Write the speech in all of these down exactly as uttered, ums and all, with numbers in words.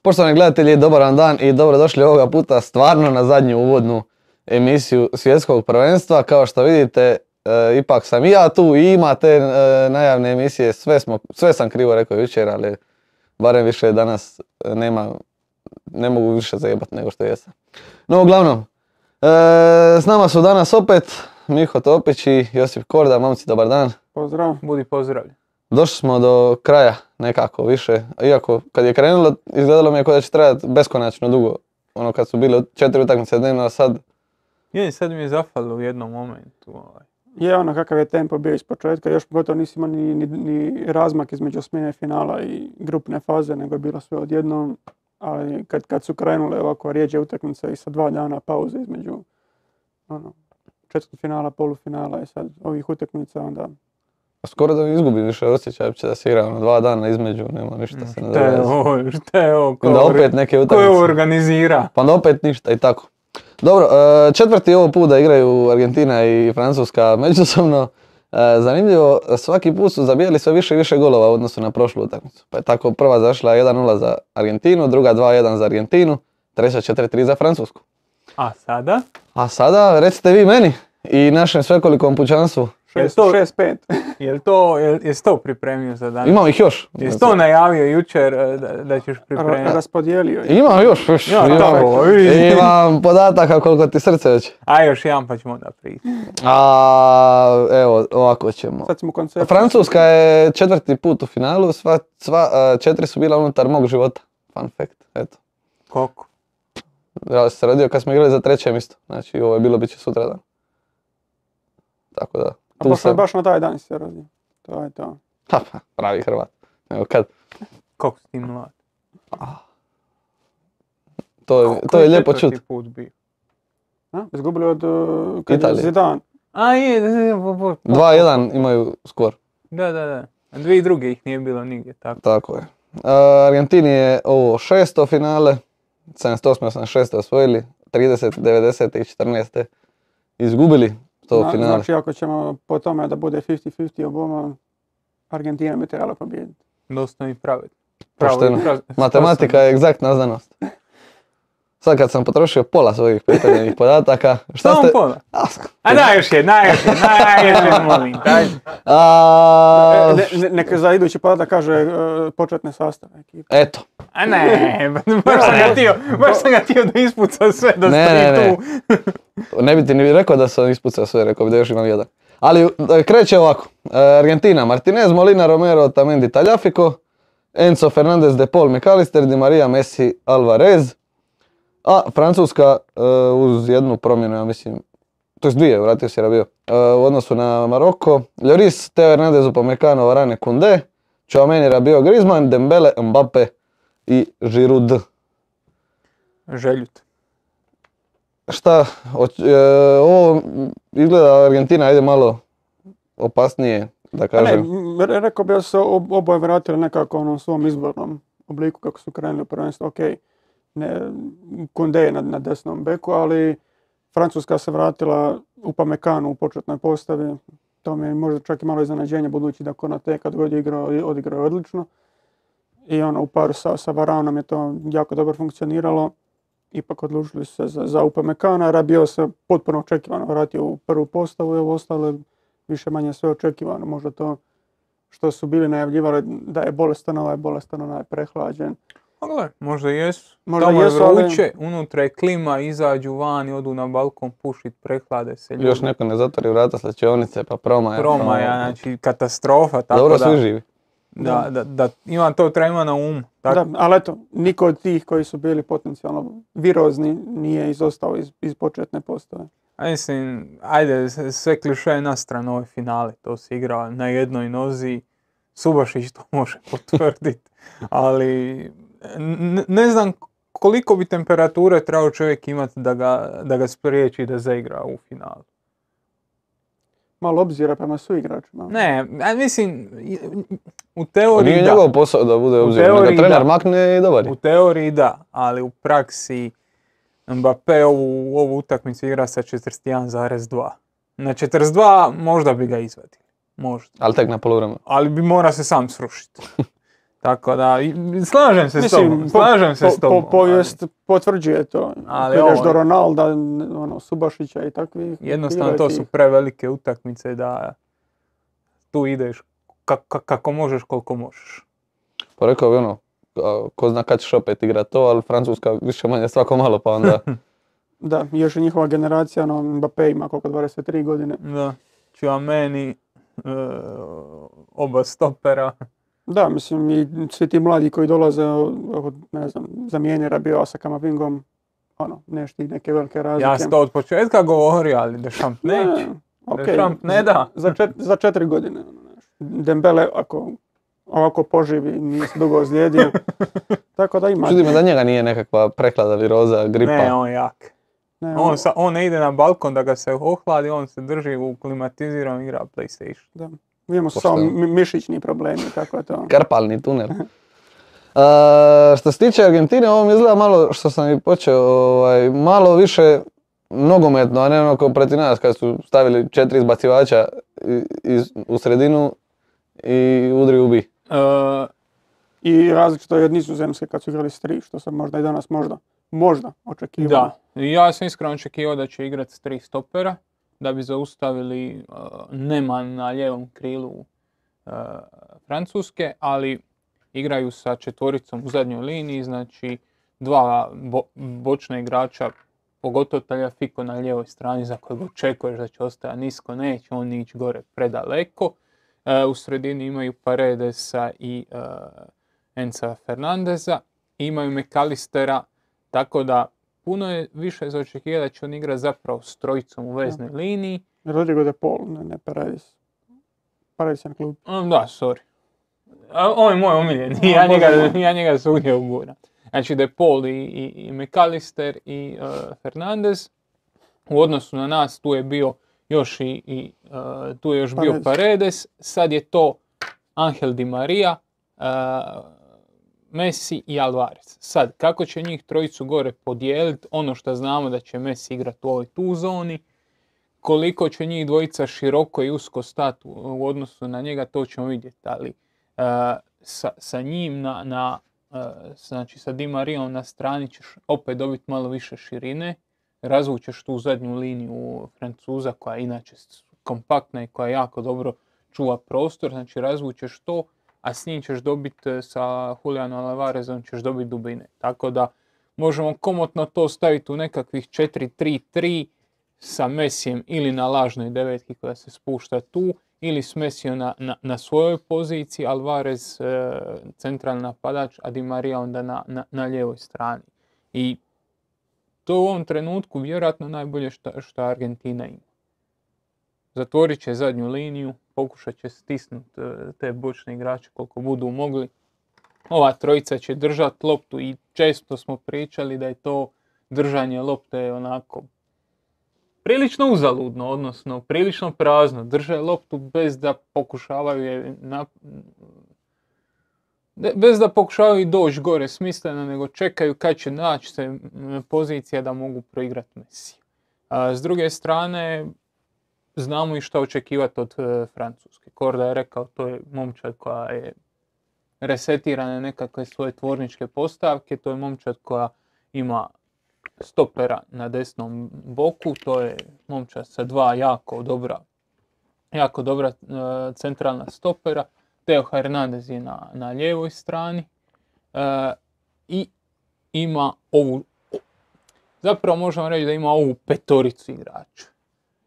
Poštovani gledatelji, dobar vam dan i dobrodošli ovoga puta stvarno na zadnju uvodnu emisiju svjetskog prvenstva. Kao što vidite, e, ipak sam i ja tu i ima te e, najavne emisije, sve, smo, sve sam krivo rekao jučer, ali barem više danas nema, ne mogu više zajebat nego što jesam. No uglavnom, e, s nama su danas opet Miho Topić i Josip Korda. Momci, dobar dan. Pozdrav. Budi pozdravljen. Došli smo do kraja nekako više, iako kad je krenulo izgledalo mi je kao da će trajati beskonačno dugo. Ono kad su bile četiri utakmice dnevno, a sad... Je, sad mi je zafalilo u jednom momentu. Ovaj. Je ono kakav je tempo bio iz početka, još gotovo nisi imao ni, ni, ni razmak između smjene finala i grupne faze, nego je bilo sve odjednom. Ali kad, kad su krenule ovako rijeđe utakmice i sa dva dana pauze između ono, četvrtfinala, polufinala i sad ovih utakmica, onda... Skoro da mi izgubi više osjećaj, uopće da se igra ono dva dana između, nema ništa se ne Šta je ovo, šta je ovo, ko, onda opet neke ko utakmice. je ovo organizira? Pa onda opet ništa i tako. Dobro, četvrti ovo put da igraju Argentina i Francuska međusobno. Zanimljivo, svaki put su zabijali sve više i više golova u odnosu na prošlu utakmicu. Pa je tako prva zašla jedan nula za Argentinu, druga dva jedan za Argentinu, treća četiri tri za Francusku. A sada? A sada recite vi meni i našem svekolikom pučanstvu. šest pet. Jel to, jel, jesi to pripremio za danas? Imam ih još. Jesi to najavio jučer da, da ćeš pripremiti? Raspodijelio ih. Imam još, još. Ja, imam, tako, imam podataka koliko ti srce hoće. A još jedan pa ćemo da pričati. A evo, ovako ćemo. Sad smo koncept. Francuska je četvrti put u finalu, sva, sva četiri su bila unutar mog života. Fun fact, eto. Koliko? Ja sam se rodio kad smo igrali za treće mjesto, znači ovo je bilo bit će sutradan. Tako da. A baš, sam... baš na taj dan si se rodio. To je to. Ha, pa, pravi Hrvat. Evo kad. Koliko si ti mlad? To je, to je lijepo čut. Put bio? A? Izgubili od uh, kad je Zidane. A je, dva jedan imaju skor. Da, da, da. A dvije druge ih nije bilo nigdje, tako. Tako je. Uh, Argentini je ovo šesto finale, sedamdeset osam osamdeset šest osvojili, trideset devedeset i četrnaest izgubili to Na, finale. Znači ako ćemo po tome da bude pedeset pedeset oboma, Argentina bi trebala pobijediti. Dosta mi pravedno. Pošteno. Matematika je egzaktna znanost. Sad kad sam potrošio pola svojih pripremljenih podataka, šta Samo ste... pola? A daj još je, daj još je, daj još je, molim, daj. A... Ne, ne, neka za idući podatak kaže uh, početne sastave ekipe. Eto. A ne, baš sam ga tio, baš sam ga tio da ispuca sve, da ne, stoji ne, ne. tu. Ne bi ti ni rekao da sam ispucao sve, rekao bi da još imam jedan. Ali kreće ovako. Argentina, Martinez, Molina, Romero, Otamendi, Tagliafico, Enzo Fernandez, De Paul, McAllister, Di Maria, Messi, Alvarez. A Francuska uh, uz jednu promjenu, ja mislim, to je dvije, vratio se Rabio, uh, u odnosu na Maroko, Lloris, Teo Hernandez, Upamecano, Varane, Koundé, Tchouaméni, Rabiot, Griezmann, Dembele, Mbappe i Giroud. Željut. Šta, oč, uh, ovo izgleda Argentina ide malo opasnije, da kažem. Ne, rekao bi da se oboje vratili nekako u onom svom izbornom obliku kako su krenuli u prvenstvo, ok. Ne, Koundé je na, na desnom beku, ali Francuska se vratila Upamecanu u početnoj postavi. To mi je možda čak i malo iznenađenje, budući da Konaté kad god je igrao, odigrao je odlično. I ono, u paru sa, sa Varanom je to jako dobro funkcioniralo. Ipak odlučili se za, za Upamecana. Rabiot se potpuno očekivano vratio u prvu postavu i ovo ostalo više manje sve očekivano. Možda to što su bili najavljivali da je bolestan, ovaj bolestan, onaj prehlađen. Gle, možda jesu. Možda Tamo jesu, je vruće, ali... unutra je klima, izađu van i odu na balkon pušit, prehlade se ljudi. Još neko ne zatvori vrata slačionice pa promaja. Promaja, znači katastrofa. Tako dobro da, svi živi. Da, da, da, ima to treba na umu. Da, ali eto, niko od tih koji su bili potencijalno virozni nije izostao iz, iz početne postave. A mislim, ajde, sve kliše na stranu ove finale, to se igra na jednoj nozi, Subašić to može potvrditi, ali ne, ne znam koliko bi temperature trebao čovjek imati da ga, da ga spriječi da zaigra u finalu. Malo obzira prema suigračima. Ne, a mislim, u teoriji nije da. njegov posao da bude obzir, nego trener makne i dobar. U teoriji da, ali u praksi Mbappé ovu, ovu utakmicu igra sa četrdeset jedan zarez dva. Na četrdeset dva možda bi ga izvadili. Možda. Ali tek na poluvremenu. Ali bi mora se sam srušiti. Tako da, i- slažem se s Mislim, tobom, po- slažem se po- s tobom. po- povijest potvrđuje to. Ali Ako ideš ovo- do Ronalda, ono, Subašića i takvih. Jednostavno bilo je to tih. su prevelike utakmice da tu ideš ka- ka- kako možeš, koliko možeš. Pa rekao bi ono, a, ko zna kad ćeš opet igrat to, ali Francuska više manje svako malo pa onda... Da, još i njihova generacija, ono, Mbappé ima koliko, dvadeset tri godine. Da, Tchouaméni, e, oba stopera. Da, mislim, i svi ti mladi koji dolaze, od, ne znam, zamijeni Rabiot sa Kamavingom, ono, nešto neke velike razlike. Ja sam to od početka govorio, ali Deschamps neće. okej. Deschamps ne da. Za, čet, za četiri godine. ono, znaš. Dembele, ako ovako poživi, nije se dugo ozlijedio. Tako da ima. Čudi me da njega nije nekakva preklada viroza, gripa. Ne, on je jak. Ne, On, sa, on ne ide na balkon da ga se ohladi, on se drži u klimatiziranom, igra PlayStation. da. Imamo Pošteno. samo mi- mišićni problemi, tako je to. Karpalni tunel. A, što se tiče Argentine, ovo mi izgleda malo, što sam i počeo, ovaj, malo više nogometno, a ne ono kao protiv nas kad su stavili četiri izbacivača i- iz, u sredinu i udri ubi. E, I različito je od Nizozemske kad su igrali s tri, što sam možda i danas možda, možda očekivao. Da, ja sam iskreno očekivao da će igrati s tri stopera, da bi zaustavili uh, Neman na lijevom krilu uh, Francuske, ali igraju sa četvoricom u zadnjoj liniji, znači dva bo- bočna igrača, pogotovo Tagliafico na lijevoj strani za kojeg očekuješ da će ostajati nisko, neće on ići gore predaleko. Uh, u sredini imaju Paredesa i uh, Enza Fernandeza, imaju McAllistera, tako da puno je više za očekivati da će on igrati zapravo s trojicom u veznoj liniji. Rodrigo de Paul, ne, ne Paredes. Paredes je na klub. Um, da, sorry. A, on je moj omiljeni, A, ja, može, njega, može. ja njega svugdje uguram. Znači De Paul i, i, i McAllister i uh, Fernandez. U odnosu na nas tu je bio još i, i uh, tu je još bio Paredes. Paredes, sad je to Angel Di Maria, uh, Messi i Alvarez. Sad, kako će njih trojicu gore podijeliti, ono što znamo da će Messi igrati u ovoj tu zoni, koliko će njih dvojica široko i usko stati u, u odnosu na njega, to ćemo vidjeti, ali uh, sa, sa njim na, na uh, znači sa Di Marijom na strani ćeš opet dobiti malo više širine, razvučeš tu zadnju liniju Francuza koja je inače kompaktna i koja jako dobro čuva prostor, znači razvučeš to, a s njim ćeš dobiti sa Julianom Alvarezom ćeš dobiti dubine. Tako da možemo komotno to staviti u nekakvih četiri tri tri sa Messijem ili na lažnoj devetki koja se spušta tu, ili s Messijom na, na, na svojoj poziciji, Alvarez e, centralni napadač, a Di Maria onda na, na, na lijevoj strani. I to u ovom trenutku vjerojatno najbolje što, što Argentina ima. Zatvorit će zadnju liniju, pokušat će stisnuti te bočne igrače koliko budu mogli. Ova trojica će držati loptu i često smo pričali da je to držanje lopte onako prilično uzaludno, odnosno prilično prazno. Drže loptu bez da pokušavaju je na... bez da pokušavaju doći gore smisleno, nego čekaju kad će naći se pozicija da mogu proigrati Messi. A s druge strane, znamo i što očekivati od e, Francuske. Korda je rekao, to je momčad koja je resetirana nekakve svoje tvorničke postavke, to je momčad koja ima stopera na desnom boku, to je momčad sa dva jako dobra, jako dobra e, centralna stopera. Theo Hernandez je na, na lijevoj strani e, i ima ovu, zapravo možemo reći da ima ovu petoricu igrača.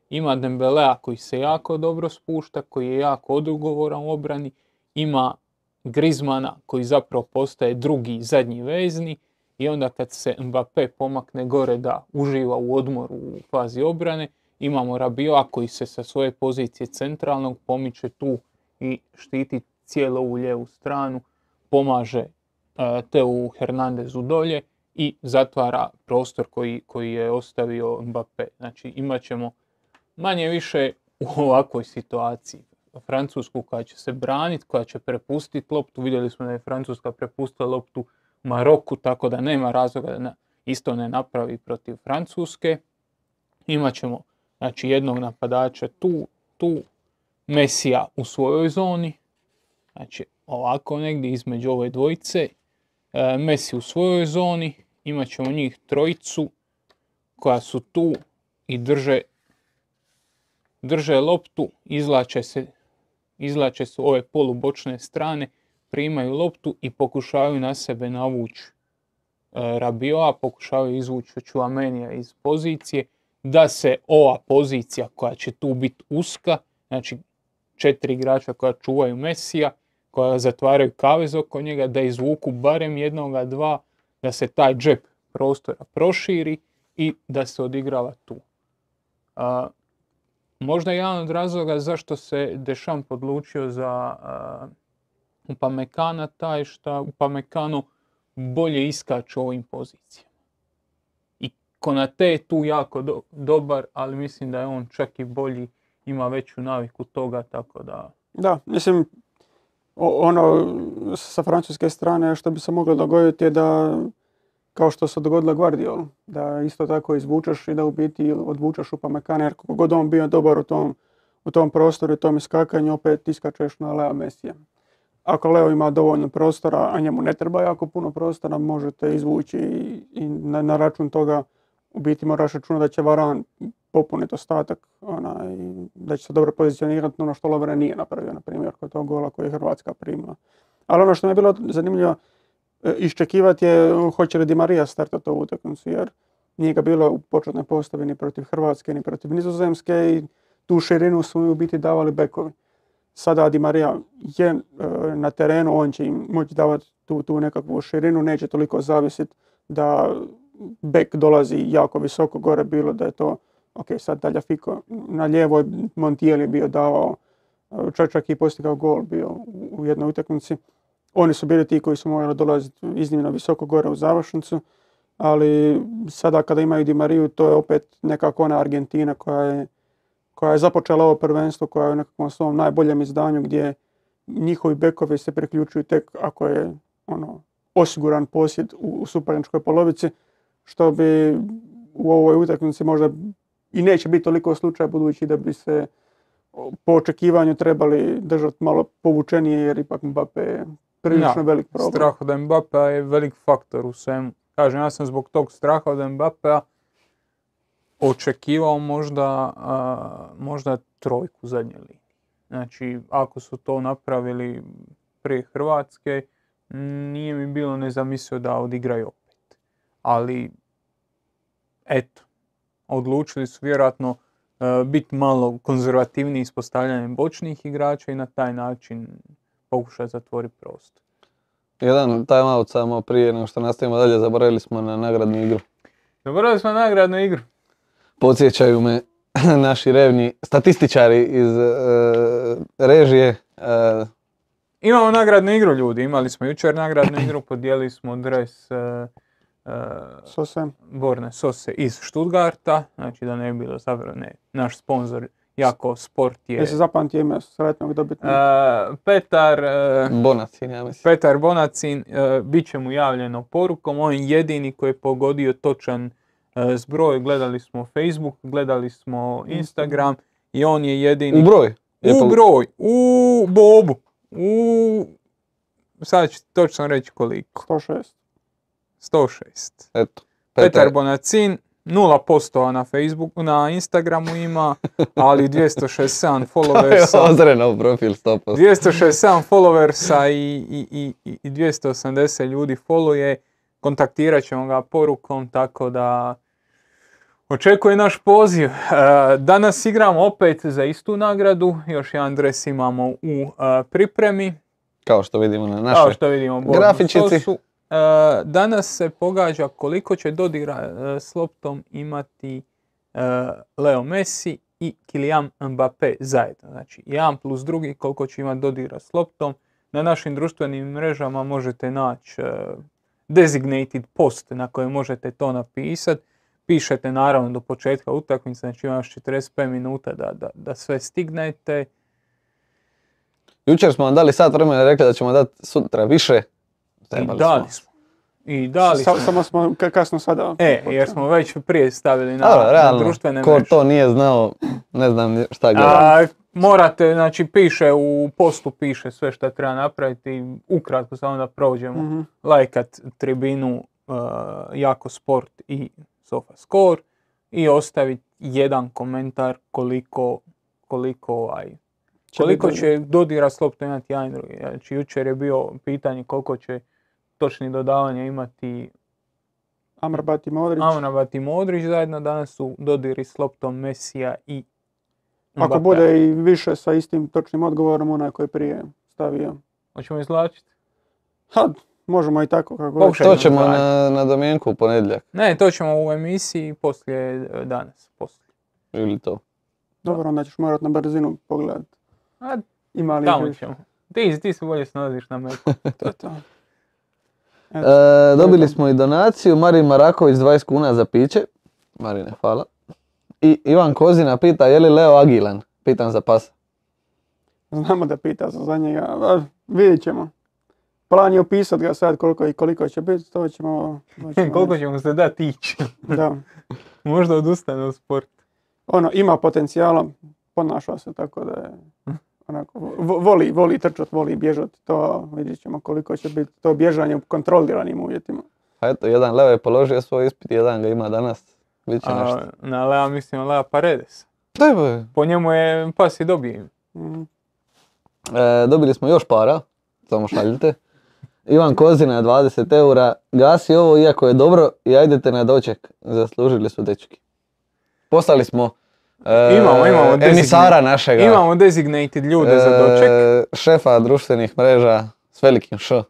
Ima Dembelea koji se jako dobro spušta, koji je jako odgovoran u obrani, ima Griezmana koji zapravo postaje drugi zadnji vezni i onda kad se Mbappé pomakne gore da uživa u odmoru u fazi obrane, imamo Rabiota koji se sa svoje pozicije centralnog pomiče tu i štiti cijelu ovu lijevu stranu, pomaže uh, Teu Hernandezu dolje i zatvara prostor koji, koji je ostavio Mbappé. Znači imat ćemo manje više u ovakvoj situaciji Francusku koja će se braniti, koja će prepustiti loptu. Vidjeli smo da je Francuska prepustila loptu Maroku, tako da nema razloga da isto ne napravi protiv Francuske. Imat ćemo znači, jednog napadača tu, tu Messija u svojoj zoni. Znači ovako negdje između ove dvojice. E, Messi u svojoj zoni, imat ćemo njih trojicu koja su tu i drže, drže loptu, izlače se, izlače se ove polubočne strane, primaju loptu i pokušavaju na sebe navući e, Rabioa, pokušavaju izvući Tchouaménija iz pozicije, da se ova pozicija koja će tu biti uska, znači četiri igrača koja čuvaju Messija, koja zatvaraju kavez oko njega, da izvuku barem jednoga, dva, da se taj džep prostora proširi i da se odigrava tu. A, možda jedan od razloga zašto se Deschamps odlučio za a, Upamecana taj što Upamecano bolje iskače u ovim pozicijama. I Konate je tu jako do, dobar, ali mislim da je on čak i bolji, ima veću naviku toga, tako da... Da, mislim, ono sa francuske strane što bi se moglo dogoditi je da, kao što se dogodilo Guardiolu, da isto tako izvučeš i da u biti odvučeš Upamecana, jer kako god on bio dobar u tom, u tom prostoru i tom iskakanju, opet iskačeš na Lea Messija. Ako Leo ima dovoljno prostora, a njemu ne treba jako puno prostora, možete izvući i, i na, na račun toga u biti moraš računati da će Varane popuniti ostatak, ona, i da će se dobro pozicionirati ono što Lovren nije napravio, na primjer, kod tog gola koji je Hrvatska primila. Ali ono što mi je bilo zanimljivo iščekivati je hoće li Di Maria startati ovu utakmicu, jer nije ga bilo u početnoj postavi ni protiv Hrvatske, ni protiv Nizozemske i tu širinu su u biti davali bekovi. Sada Di Maria je e, na terenu, on će im moći davati tu, tu nekakvu širinu, neće toliko zavisiti da bek dolazi jako visoko gore, bilo da je to, ok, sad Tagliafico na lijevoj, Montiel je bio davao, čak, čak i postigao gol bio u, u jednoj utakmici. Oni su bili ti koji su morali dolaziti iznimno visoko gore u završnicu, ali sada kada imaju Di Mariju, to je opet nekako ona Argentina koja je koja je započela ovo prvenstvo, koja je u nekakvom svom najboljem izdanju gdje njihovi bekovi se priključuju tek ako je ono, osiguran posjed u, u suparničkoj polovici, što bi u ovoj utakmici možda i neće biti toliko slučaja, budući da bi se po očekivanju trebali držati malo povučenije, jer ipak Mbappé je prilično ja, velik problem. Strah od Mbappéa je velik faktor u svemu. Kažem, ja sam zbog tog straha od Mbappéa očekivao možda, a, možda trojku zadnje linije. Znači, ako su to napravili prije Hrvatske, nije mi bilo nezamislivo da odigraju opet. Ali, eto, odlučili su vjerojatno a, biti malo konzervativniji s postavljanjem bočnih igrača i na taj način pokušati zatvoriti prostor. Jedan time out samo prije nego što nastavimo dalje, zaboravili smo na nagradnu igru. Zaboravili smo na nagradnu igru. Podsjećaju me naši revni statističari iz uh, režije. Uh, Imamo nagradnu igru, ljudi. Imali smo jučer nagradnu igru, podijelili smo dres uh, uh, Sose. Borne Sose iz Stuttgarta. Znači da ne bi bilo zapravo ne. Naš sponzor Jako Sport je... Jesi zapamtio ime sretnog dobitnika? Uh, Petar... Uh, Bonacin, ja mislim. Petar Bonacin, uh, bit će mu javljeno porukom. On je jedini koji je pogodio točan uh, zbroj. Gledali smo Facebook, gledali smo Instagram i on je jedini... U broj? U broj, u bobu, u... Sad ću točno reći koliko. sto šest. sto šest. Eto. Petar, Petar Bonacin, nula posto na Facebooku, na Instagramu ima, ali dvjesto šezdeset sedam followersa. Ozreno profil sto posto. dvjesto šezdeset sedam followersa i, i, i, i dvjesto osamdeset ljudi followuje. Kontaktirat ćemo ga porukom, tako da očekuje naš poziv. Danas igramo opet za istu nagradu, još jedan dres imamo u pripremi. Kao što vidimo na našoj Kao što vidimo grafičici. Sosu. Danas se pogađa koliko će dodira s loptom imati Leo Messi i Kylian Mbappé zajedno. Znači jedan plus drugi koliko će imati dodira s loptom. Na našim društvenim mrežama možete naći designated post na kojem možete to napisati. Pišete naravno do početka utakmice, znači ima još četrdeset pet minuta da, da, da sve stignete. Jučer smo vam dali sat vremena i rekli da ćemo dati sutra više. I dali smo. I dali Sa- smo. Samo smo ka- kasno sada. E, jer smo već prije stavili na, Dobro, na realno, društvene ko mreže. to nije znao, ne znam ni šta gleda. A, morate, znači piše u postu, piše sve što treba napraviti, ukratko samo da prođemo. Mhm. Lajkat tribinu uh, Jako Sport i SofaScore i ostaviti jedan komentar koliko, koliko, ovaj, Će koliko biti će dodira s loptom imati jedan i drugi. Znači jučer je bio pitanje koliko će točni dodavanja imati Amrabat i Modrić. Amrabat i Modrić zajedno, danas su dodiri s loptom Mesija i Ako Mbappéa. bude i više sa istim točnim odgovorom, onaj koji je prije stavio. Hoćemo izvlačiti? Ha, možemo i tako kako god. Pokušaj. To ćemo Ajde. na, na domjenku u ponedjeljak, Ne, to ćemo u emisiji poslije e, danas. Poslije. ili to. Dobro, onda ćeš morat na brzinu pogledat. A Ima li tamo više? ćemo. Ti, ti se bolje snalaziš na meku. To je to. E, dobili smo i donaciju, Marin Maraković dvadeset kuna za piće. Marine, hvala. I Ivan Kozina pita je li Leo agilan? Pitam za pasa. Znamo da pita se za njega. a, Vidjet ćemo. Plan je opisat ga sad koliko i koliko će biti, to ćemo... to ćemo Koliko reći. ćemo se dati ići? Da. Možda odustane od sporta. Ono, ima potencijala, ponaša se tako da je... Onako, vo- voli, voli trčat, voli bježat, to vidjet ćemo koliko će biti to bježanje u kontroliranim uvjetima. A eto, jedan Leo je položio svoj ispit, jedan ga ima danas. Bit će nešto. A, na Lea mislim Lea Paredes. Daj boje. Po njemu je pas i dobije. Mhm. E, dobili smo još para, samo šaljite. Ivan Kozina dvadeset eura, gasi ovo iako je dobro i ajdete na doček, zaslužili su dečki. Poslali smo e, Imamo, imamo emisara našega, Imamo designated ljude za doček. e, šefa društvenih mreža s velikim š,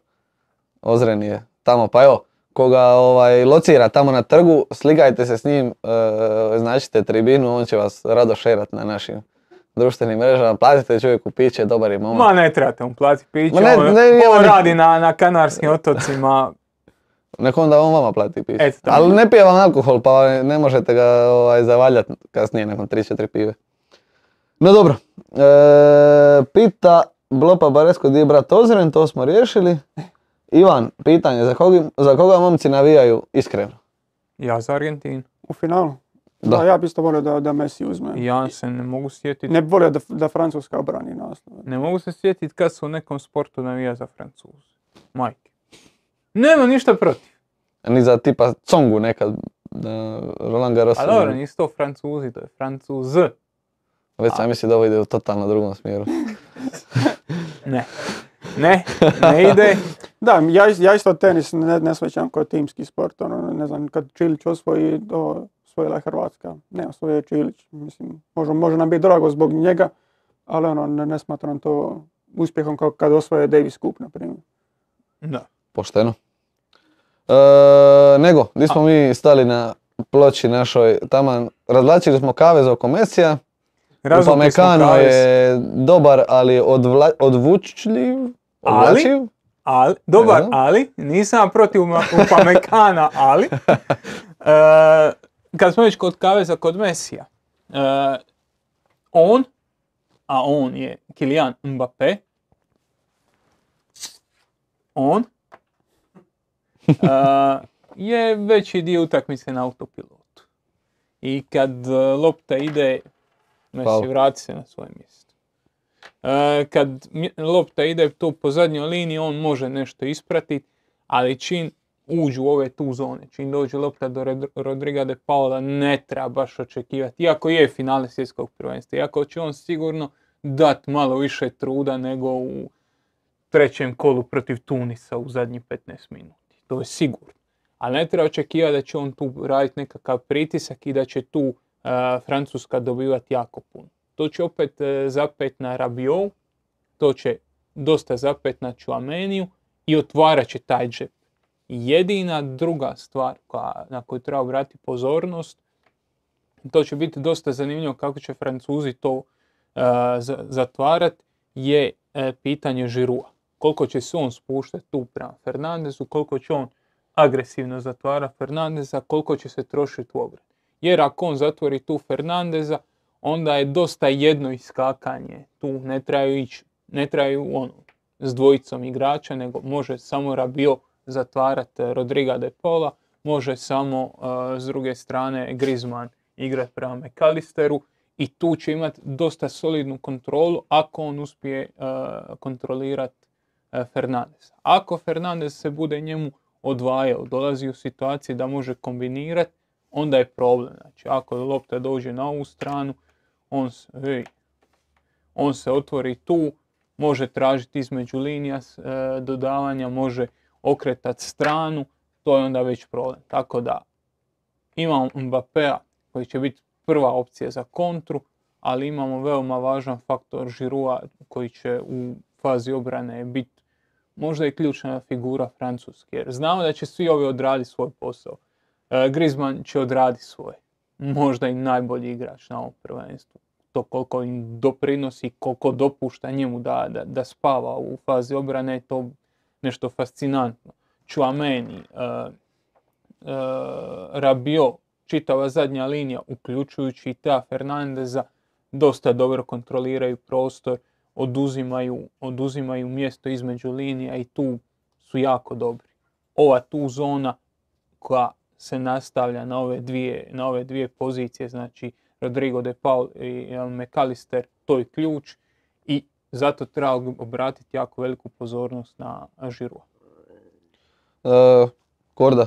Ozren je tamo, pa evo, koga ovaj, locira tamo na trgu, slikajte se s njim, e, značite tribinu, on će vas rado šerat na našim društvenim mrežama, platite čovjeku piće, dobar je momak. Ma ne trebate mu platiti piće, Ma ne, on, ne, nema on ni- radi na, na Kanarskim otocima. Nek onda on vama plati piće. Eto, tako. Ali ne pije vam alkohol, pa ne možete ga ovaj, zavaljati kasnije nakon tri četiri pive. No dobro, e, pita Blopa Baresko di je brat Ozren, to smo riješili. Ivan, pitanje, za koga, za koga momci navijaju iskreno? Ja za Argentinu. U finalu? Da. Da. Ja bi isto volio da, da Messi uzme. Ja se ne mogu sjetiti. Ne bi volio da, da Francuska obrani naslov. Ne mogu se sjetiti kad su u nekom sportu navija za Francuze. Majke. Nema ništa protiv. Ni za tipa Congu nekad, da Roland Garros. A dobro, nisu to Francuzi, to je Francuz. Već sam mislio da ovo ide u totalno drugom smjeru. Ne. Ne, ne ide. Da, ja, is- ja isto tenis ne, ne shvaćam kao timski sport. Ono, ne znam, kad Čilić osvoji, to osvojila je Hrvatska. Ne, osvojio je Čilić. Mislim, može, može nam biti drago zbog njega, ali ono, ne, ne smatram to uspjehom kao kad osvoje Davis Cup, na primjer. Da. Pošteno. E, nego, gdje smo mi stali na ploči našoj, taman, razvlačili smo kavez oko Mesija. Razvukli smo Upamecano kavez. je dobar, ali odvla, odvučljiv, Ali? odvlačiv. Ali, dobar, Ne znam. ali, nisam protiv Upamecana, ali, e, kad smo već kod kaveza kod Mesija, e, on, a on je Kylian Mbappé, on e, je veći dio utakmice na autopilotu. I kad e, lopta ide, Messi Hvala. vrati se na svoje mjesto. E, kad mje- lopta ide tu po zadnjoj liniji, on može nešto ispratiti, ali čim uđu u ove tu zone, čim dođe lopta do Red- Rodriga de Paula, ne treba baš očekivati, iako je finale svjetskog prvenstva, iako će on sigurno dat malo više truda nego u trećem kolu protiv Tunisa u zadnjih petnaest minuti. To je sigurno. Ali ne treba očekivati da će on tu raditi nekakav pritisak i da će tu uh, Francuska dobivati jako puno. To će opet uh, zapet na Rabiot, to će dosta zapet na Tchouaméniju i otvarat će taj džep. Jedina druga stvar koja, na koju treba obratiti pozornost, to će biti dosta zanimljivo kako će Francuzi to uh, za- zatvarat, je uh, pitanje Giroua. Koliko će se on spuštati tu prema Fernandezu, koliko će on agresivno zatvara Fernandeza, koliko će se trošiti u obrani. Jer ako on zatvori tu Fernandeza, onda je dosta jedno iskakanje. Tu ne trebaju ići, ne trebaju ono, s dvojicom igrača, nego može samo Rabiot zatvarati Rodriga de Paula, može samo uh, s druge strane Griezmann igrati prema McAllisteru i tu će imati dosta solidnu kontrolu ako on uspije uh, kontrolirati uh, Fernandesa. Ako Fernandes se bude njemu odvajao, dolazi u situaciju da može kombinirati, onda je problem. Znači, ako lopta dođe na ovu stranu, on se, hej, on se otvori tu, može tražiti između linija e, dodavanja, može okretati stranu, to je onda već problem. Tako da imamo Mbappéa koji će biti prva opcija za kontru, ali imamo veoma važan faktor Giroua koji će u fazi obrane biti možda i ključna figura Francuske. Jer znamo da će svi ovi odraditi svoj posao. E, Griezmann će odraditi svoje. Možda i najbolji igrač na ovom prvenstvu. To koliko im doprinosi, koliko dopušta njemu da, da, da spava u fazi obrane, je to nešto fascinantno. Tchouaméni, uh, uh, Rabiot, čitava zadnja linija, uključujući i Teo Fernandeza, dosta dobro kontroliraju prostor, oduzimaju, oduzimaju mjesto između linija i tu su jako dobri. Ova tu zona koja se nastavlja na ove dvije, na ove dvije pozicije, znači Rodrigo de Paul i McAllister, to je ključ i zato treba obratiti jako veliku pozornost na Giroua. Uh, Korda.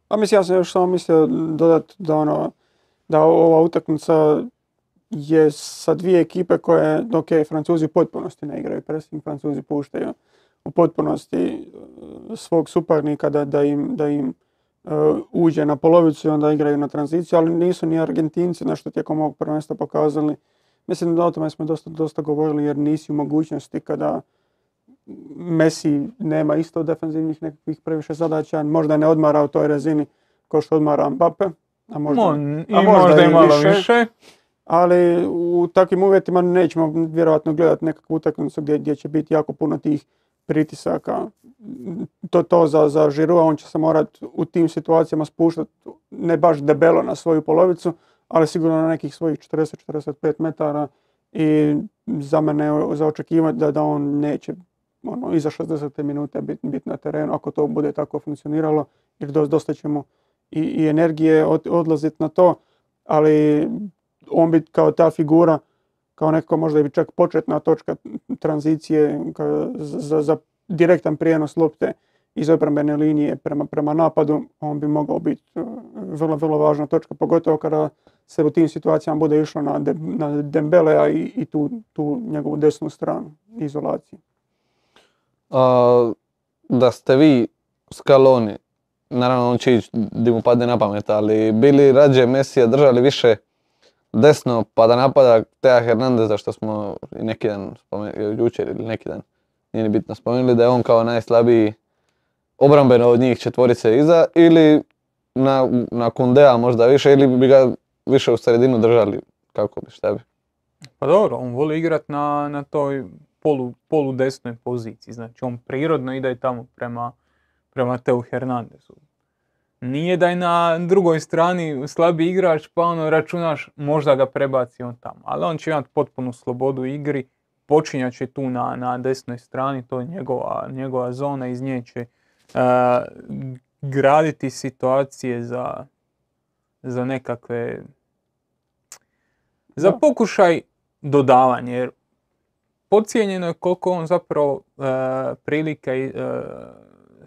A mislim, ja sam još samo mislio dodati da, ono, da ova utakmica je sa dvije ekipe koje, ok, Francuzi u potpunosti ne igraju pressing, Francuzi puštaju u potpunosti svog suparnika da, da im, da im uh, uđe na polovicu i onda igraju na tranziciju, ali nisu ni Argentinci nešto tijekom ovog prvenstva pokazali. Mislim da o tome smo dosta, dosta govorili jer nisi u mogućnosti kada Messi nema isto defensivnih nekakvih previše zadaća, možda ne odmara u toj razini kao što odmara Mbappé, a možda, Mo, i a možda, možda i malo više, više. Ali u takvim uvjetima nećemo vjerojatno gledati nekakvu utakmicu gdje, gdje će biti jako puno tih pritisaka. To, to za, za Giroua, on će se morati u tim situacijama spuštati ne baš debelo na svoju polovicu, ali sigurno na nekih svojih četrdeset do četrdeset pet metara i za mene je za očekivati da, da on neće ono, iza šezdesete minute biti bit na terenu ako to bude tako funkcioniralo, jer dosta ćemo i, i energije od, odlaziti na to, ali on bi kao ta figura, kao nekako možda i čak početna točka tranzicije ka, za, za direktan prijenos lopte iz obrambene linije prema, prema napadu, on bi mogao biti vrlo, vrlo važna točka, pogotovo kada se u tim situacijama bude išlo na, de, na Dembelea i, i tu, tu njegovu desnu stranu, izolaciju. A, da ste vi Scaloni, naravno on će ići di mu padne na pamet, ali bili rađe Messija držali više desno pa da napada Teo Hernandeza, što smo i neki dan spomenuli, jučer ili neki dan, nije ni bitno, spomenuli da je on kao najslabiji obrambeno od njih četvorice iza, ili na, na Kundea možda više, ili bi ga više u sredinu držali, kako bi, šta bi? Pa dobro, on voli igrat na, na toj polu, polu desnoj poziciji, znači on prirodno ide tamo prema, prema Teu Hernandezu. Nije da je na drugoj strani slabi igrač pa ono računaš možda ga prebaci on tamo, ali on će imati potpunu slobodu igri, počinjat će tu na, na desnoj strani, to je njegova, njegova zona, iz nje će uh, graditi situacije za, za nekakve, za pokušaj dodavanja, jer podcijenjeno je koliko on zapravo uh, prilika i uh,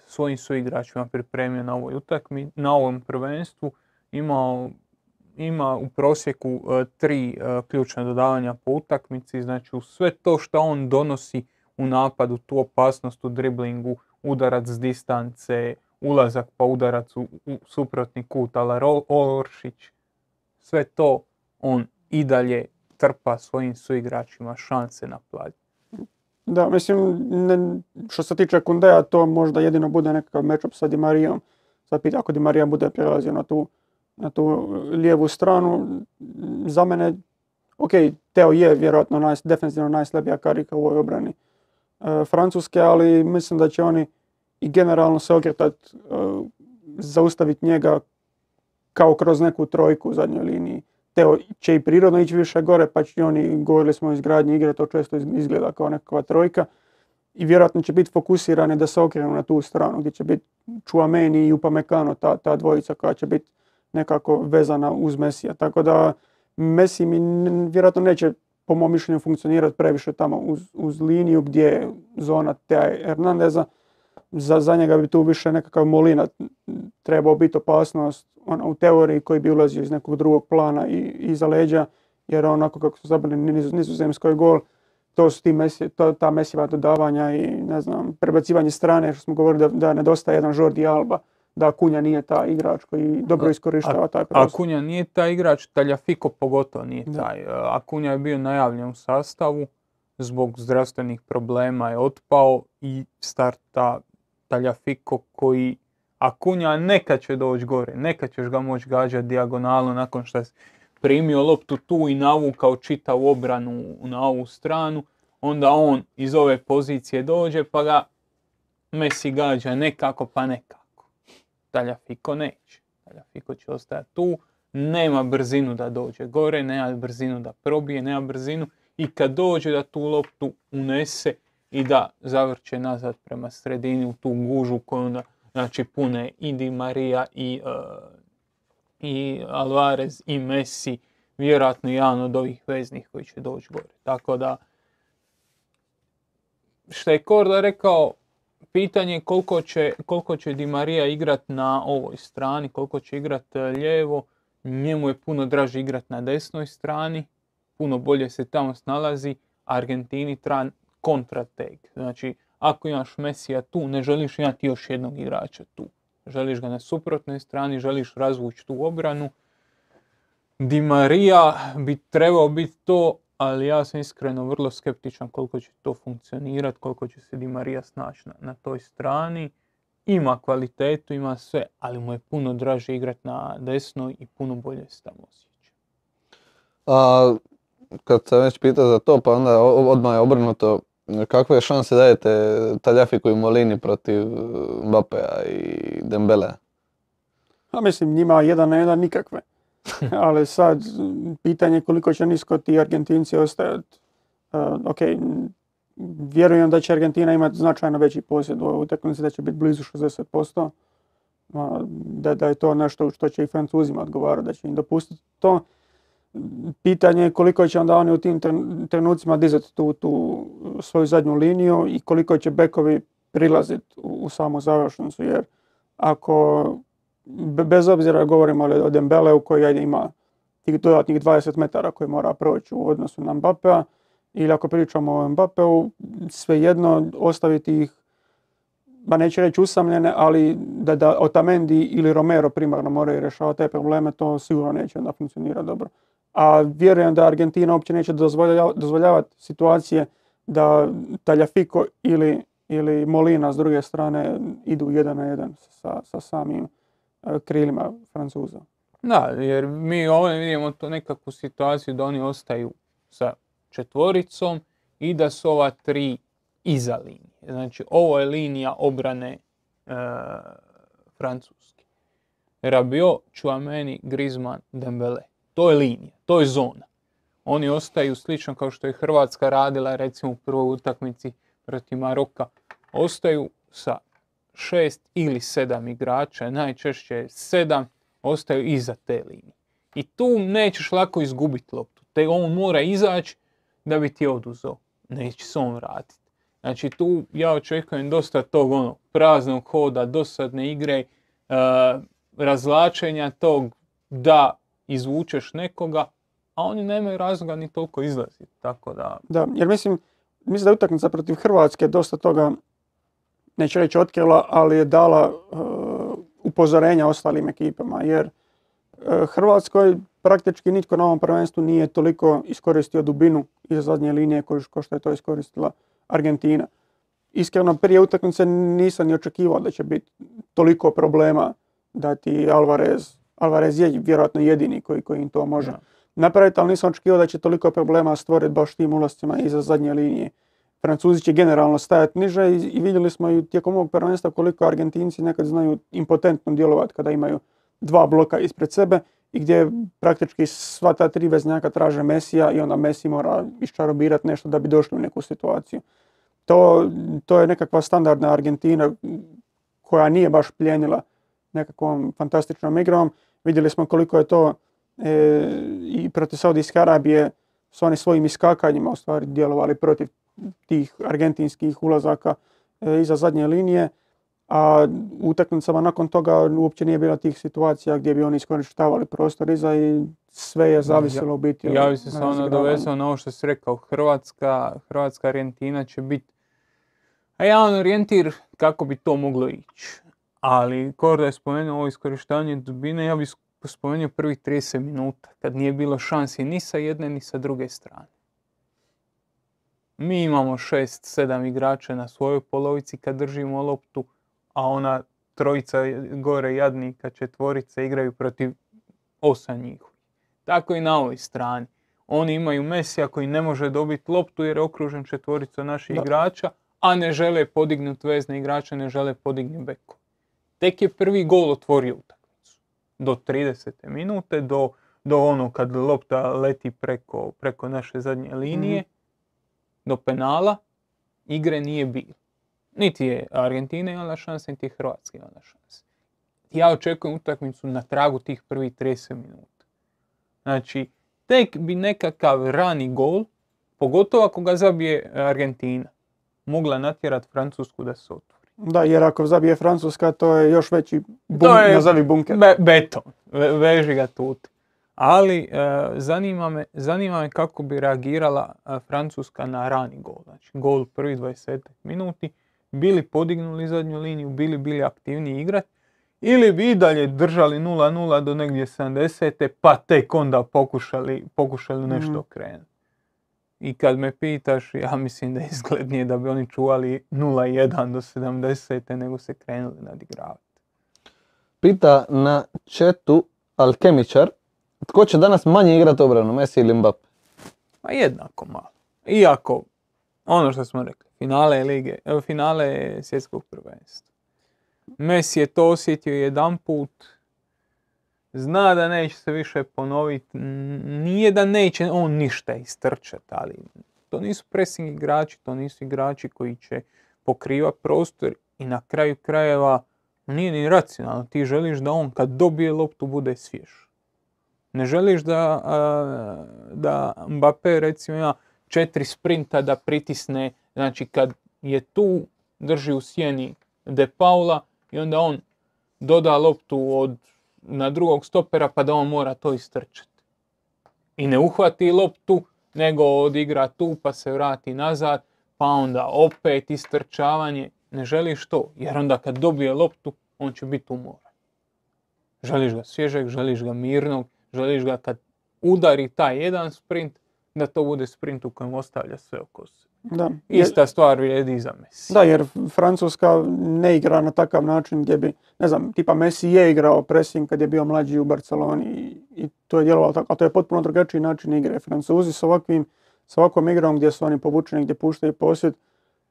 svojim suigračima pripremio na ovoj utakmi, na ovom prvenstvu. Imao, ima u prosjeku uh, tri uh, ključna dodavanja po utakmici, znači u sve to što on donosi u napadu, tu opasnost u driblingu, udarac s distance, ulazak pa udarac u, u suprotni kut, ala Oršić, sve to on i dalje trpa svojim suigračima šanse na plađu. Da, mislim, ne, što se tiče Kundea, to možda jedino bude nekakav matchup sa Di Marijom. Sad pita ako Di Marija bude prelazio na tu, na tu lijevu stranu. Za mene, ok, Teo je vjerojatno naj, defensivno najslabija karika u ovoj obrani e, Francuske, ali mislim da će oni i generalno se okretati, e, zaustaviti njega kao kroz neku trojku u zadnjoj liniji. Teo će i prirodno ići više gore, pa će oni, govorili smo o izgradnji igre, to često izgleda kao nekakva trojka. i vjerojatno će biti fokusirani da se okrenu na tu stranu gdje će biti Tchouaméni i Upamecano, ta, ta dvojica koja će biti nekako vezana uz Mesija. Tako da Messi mi n- vjerojatno neće po mom mišljenju funkcionirati previše tamo uz, uz liniju gdje je zona Teo Hernandeza. Za, za njega bi tu više nekakav Molina trebao biti opasnost on, u teoriji koji bi ulazio iz nekog drugog plana i iza leđa, jer onako kako su zabili niz, nizozemskoj gol, to su ti Messi, to, ta Messijeva dodavanja i ne znam, prebacivanje strane, što smo govorili da, da nedostaje jedan Jordi Alba, da Cunha nije taj igrač koji dobro iskorištava taj prostor. Cunha nije taj igrač, Tagliafico pogotovo nije Da. taj. Cunha je bio najavljen u sastavu, zbog zdravstvenih problema je otpao i starta Tagliafico koji Cunha nekad će doći gore, nekad ćeš ga moći gađati dijagonalno nakon što si primio loptu tu i navukao čitavu obranu na ovu stranu, onda on iz ove pozicije dođe pa ga Messi gađa nekako pa nekako. Tagliafico neće. Tagliafico će ostajati tu, nema brzinu da dođe gore, nema brzinu da probije, nema brzinu i kad dođe da tu loptu unese i da zavrće nazad prema sredini u tu gužu koju onda znači pune i Di Maria i, uh, i Alvarez i Messi, vjerojatno jedan od ovih veznih koji će doći gore. Tako da, što je Korda rekao, pitanje je koliko će, koliko će Di Maria igrat na ovoj strani, koliko će igrat lijevo. Njemu je puno draže igrat na desnoj strani, puno bolje se tamo snalazi. Argentini treba kontrateg. Znači, ako imaš Messija tu, ne želiš imati još jednog igrača tu. Želiš ga na suprotnoj strani, želiš razvući tu obranu. Di Maria bi trebao biti to, ali ja sam iskreno vrlo skeptičan koliko će to funkcionirati, koliko će se Di Maria snaći na, na toj strani. Ima kvalitetu, ima sve, ali mu je puno draže igrati na desnoj i puno bolje se tamo osjeća. A kad se već pita za to, pa onda odmah je obrnuto. Kakve šanse dajete Tagliaficu i Molini protiv Mbappéa i Dembélea? A mislim, njima jedan na jedan nikakve. Ali sad, pitanje je koliko će nisko ti Argentinci ostajati. Uh, ok, vjerujem da će Argentina imati značajno veći posjed u ovoj utakmici, da će biti blizu šezdeset posto. Uh, da, da je to nešto što će i Francuzima odgovarati, da će im dopustiti to. Pitanje je koliko će onda oni u tim trenucima dizati tu, tu svoju zadnju liniju i koliko će bekovi prilaziti u, u samu završnicu, jer ako, bez obzira govorimo o Dembeleu koji ima tih dodatnih dvadeset metara koji mora proći u odnosu na Mbappéa, ili ako pričamo o Mbappéu, svejedno ostaviti ih, ba neće reći usamljene, ali da, da Otamendi ili Romero primarno moraju rješavati te probleme, to sigurno neće onda funkcionirati dobro. A vjerujem da Argentina uopće neće dozvoljavati, dozvoljavati situacije da Tagliafico ili, ili Molina s druge strane idu jedan na jedan sa, sa samim uh, krilima Francuza. Da, jer mi ovdje vidimo to nekakvu situaciju da oni ostaju sa četvoricom i da su ova tri iza linije. Znači, ovo je linija obrane e, Francuske. Rabiot, Tchouaméni, Griezmann, Dembélé. To je linija, to je zona. Oni ostaju slično kao što je Hrvatska radila recimo u prvoj utakmici protiv Maroka. Ostaju sa šest ili sedam igrača, najčešće sedam, ostaju iza te linije. I tu nećeš lako izgubiti loptu. Te on mora izaći da bi ti oduzeo. Neće se on vratiti. Znači tu ja očekujem dosta tog ono, praznog hoda, dosadne igre, uh, razvlačenja tog da izvučeš nekoga, a oni nemaju razloga ni toliko izlaziti. Tako da... Da, jer mislim, mislim da je utakmica protiv Hrvatske dosta toga, neću reći otkrila, ali je dala uh, upozorenja ostalim ekipama, jer uh, Hrvatskoj praktički nitko na ovom prvenstvu nije toliko iskoristio dubinu iza zadnje linije kao što je to iskoristila Argentina. Iskreno, prije utakmice nisam ni očekivao da će biti toliko problema da ti Alvarez, Alvarez je vjerojatno jedini koji, koji im to može napraviti, ali nisam očekivao da će toliko problema stvoriti baš tim ulascima iza zadnje linije. Francuzi će generalno stajati niže i, i vidjeli smo i tijekom ovog prvenstva koliko Argentinci nekad znaju impotentno djelovati kada imaju dva bloka ispred sebe i gdje praktički sva ta tri veznjaka traže Messija i onda Messi mora iščarobirati nešto da bi došli u neku situaciju. to, to je nekakva standardna Argentina koja nije baš pljenila nekakvom fantastičnom igrom. Vidjeli smo koliko je to e, i protiv Saudijske Arabije su oni svojim iskakanjima u stvari djelovali protiv tih argentinskih ulazaka e, iza zadnje linije, a u utakmicama nakon toga uopće nije bilo tih situacija gdje bi oni iskorištavali prostor iza i sve je zavisilo u biti. Ja bi se samo nadovezao na ovo što si rekao, Hrvatska, Hrvatska Argentina će biti jedan orijentir kako bi to moglo ići. Ali Korda je spomenuo ovo iskorištavanje dubine, ja bih spomenuo prvih trideset minuta, kad nije bilo šansi ni sa jedne ni sa druge strane. Mi imamo šest sedam igrača na svojoj polovici kad držimo loptu, a ona trojica gore jadnika, četvorice igraju protiv osam njihovih. Tako i na ovoj strani. Oni imaju Mesija koji ne može dobiti loptu jer je okružen četvoricom naših da. igrača, a ne žele podignuti vezne igrače, ne žele podignuti beko. Tek je prvi gol otvorio utakmicu. Do tridesete minute, do, do ono kad lopta leti preko, preko naše zadnje linije, mm-hmm. do penala, igre nije bilo. Niti je Argentina imala šanse, niti je Hrvatska imala šanse. Ja očekujem utakmicu na tragu tih prvih trideset minuta. Znači, tek bi nekakav rani gol, pogotovo ako ga zabije Argentina, mogla natjerati Francusku da se otvori. Da, jer ako zabije Francuska, to je još veći bun, je nazavi bunker. Be, beton, Ve, veži ga tut. Ali e, zanima, me, zanima me kako bi reagirala e, Francuska na rani gol. Znači, gol prvi dvadeset minuti, bili podignuli zadnju liniju, bili bili aktivniji igrat, ili bi i dalje držali nula nula do negdje sedamdesete pa tek onda pokušali, pokušali nešto okrenuti. I kad me pitaš, ja mislim da je izglednije da bi oni čuvali nula jedan do sedamdesete nego se krenuli nadigravati. Pita na chatu Alkemičar, tko će danas manje igrati obranu, Messi ili Mbappe? Pa jednako malo. Iako, ono što smo rekli, finale lige, finale svjetskog prvenstva. Messi je to osjetio jedan put, zna da neće se više ponoviti, nije da neće on ništa istrčati, ali to nisu pressing igrači, to nisu igrači koji će pokrivati prostor i na kraju krajeva nije ni racionalno. Ti želiš da on kad dobije loptu bude svjež. Ne želiš da, da Mbappe recimo ima četiri sprinta da pritisne, znači kad je tu drži u sjeni De Paula i onda on doda loptu od na drugog stopera pa da on mora to istrčati. I ne uhvati loptu, nego odigra tu pa se vrati nazad, pa onda opet istrčavanje. Ne želiš to, jer onda kad dobije loptu, on će biti umoran. Želiš ga svježeg, želiš ga mirnog, želiš ga kad udari taj jedan sprint, da to bude sprint u kojem ostavlja sve oko sebe. Da. Ista stvar vrijedi i za Messi. Da, jer Francuska ne igra na takav način gdje bi, ne znam, tipa Messi je igrao pressing kad je bio mlađi u Barceloni i, i to je djelovalo tako, ali to je potpuno drugačiji način igre. Francuzi s ovakvim, s ovakvom igrom gdje su oni povučeni, gdje puštaju posjed,